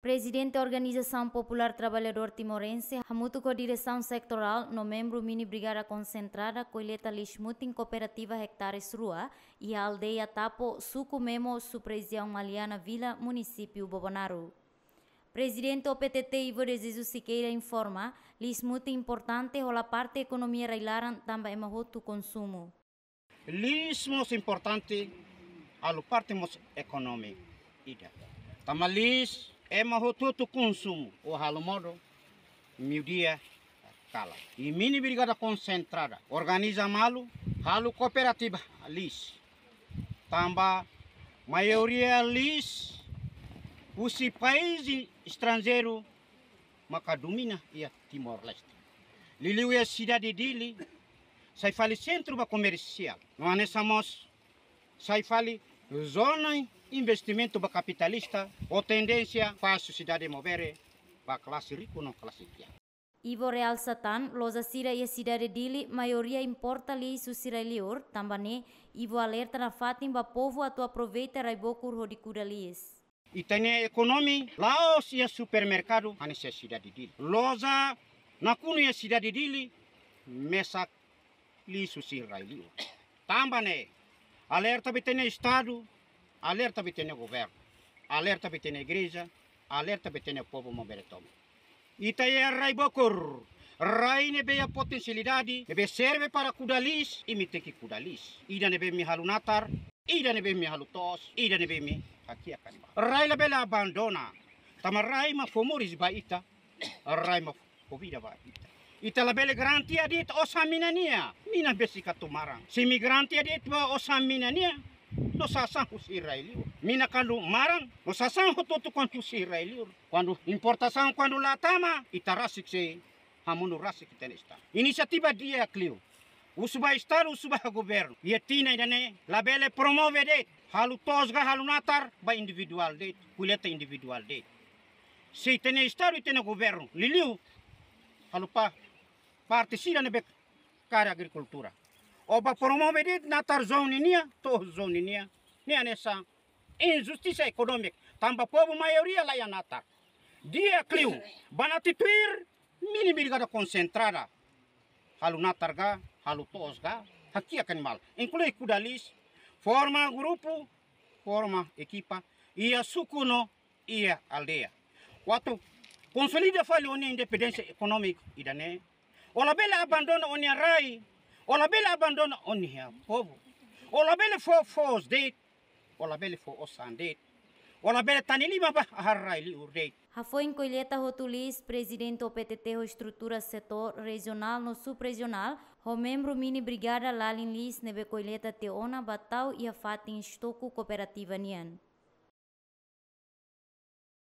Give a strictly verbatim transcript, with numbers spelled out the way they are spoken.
Prezidente Organizasaun Populár Traballadór Timorense, hamutuk ho diresaun setorál no membru mini brigada konsentrada, kolleta liis mutin kooperativa ektares rua iha aldeia Tapo, suku Memo, subrejiaun Maliana Vila, munisípiu Bobonaro. Prezidente O P T T Ivo de Jesus Siqueira informa, liis mutin importante hola parte ekonomia rai-laran tanba ema hotu konsumu. Liis mós importante, halo parte mós ekonomia ida. Tanba liis ema hotu-hotu konsumu, ou halo modo, meiudia kalan. I mini brigada konsentrada organiza malu, halo kooperativa liis. Tanba maioria liis husi país estranjeiru maka domina iha Timor-Leste. Liuliu iha sidade Dili, sai fali sentru ba komersiál. No hanesan mós sai fali zona investimentu ba kapitalista, ho tendénsia fó sosiedade movere ba klase riku no klase kiak. Ivo realsa tan, loja sira iha sidade Dili maioria importa liis husi rai-liur, tanba ne'e Ivo alerta nafatin ba povu atu aproveita rai-bokur hodi kuda liis. Ita-nia ekonomia la'ós iha supermerkadu hanesan iha sidade Dili. Loja nakonu iha sidade Dili mesak liis husi rai-liur. Tanba ne'e, alerta ba ita-nia Estadu, alerta ba ita-nia governu, alerta ba ita-nia igreja, alerta ba ita-nia povu maubere tomak. Ita iha rai-bokur, rai ne'ebé iha potensialidade, ne'ebé serve para kuda liis, imi tenke kuda liis. Ida ne'ebé imi halo natar, ida ne'ebé imi halo to'os, ida ne'ebé imi hakiak animál. Rai labele abandona, tanba rai mak fó moris ba ita, rai mak fó vida ba ita. Ita labele garantia de'it osan mina nian, mina besik atu maran. Se imi garantia de'it ba osan mina nian, no sasán husi rai-liur. Mina kuandu maran, no sasán hotu-hotu kuandu husi rai-liur. Kuandu importasaun kuandu la tama, ita rasik sei hamonu rasik ita-nia Estadu. Inisiativa di'ak liu. Husu ba Estadu, husu ba governu. Iha tinan ida-ne'e, labele promove de'it. Halo to'os ka halo natar ba individuál de'it, kolleta individuál de'it. Se ita-nia Estadu, ita-nia governu, liuliu, halo pa, parte sira ne'ebé kaer agrikultura. Ó bá promove de'it natar joun ninian, to'os joun ninian. Ne'e hanesan injustisa ekonómika. Tanba povu maioria la iha natar. Di'ak liu, banati tuir, mini brigada konsentrada. Halo natar ka, halo to'os ka, hakiak animál. Inklui kuda liis, forma grupu, forma ekipa, iha suku no iha aldeia. Atu konsolida fali ó-nia independénsia ekonómika ida-ne'e. Ó labele abandona ó-nia rai, ó labele abandona ó-nia povu. Ó labele fó foos de'it, ó labele fó osan de'it. Ó labele tane liman ba ahar rai-liur de'it. Hafoin kolleta hotu liis, prezidente O P T T ho estrutura setór rejionál no subrejionál, ho membru mini brigada lalin liis ne'ebé kolleta tiha ona ba tau iha fatin estoku kooperativa nian.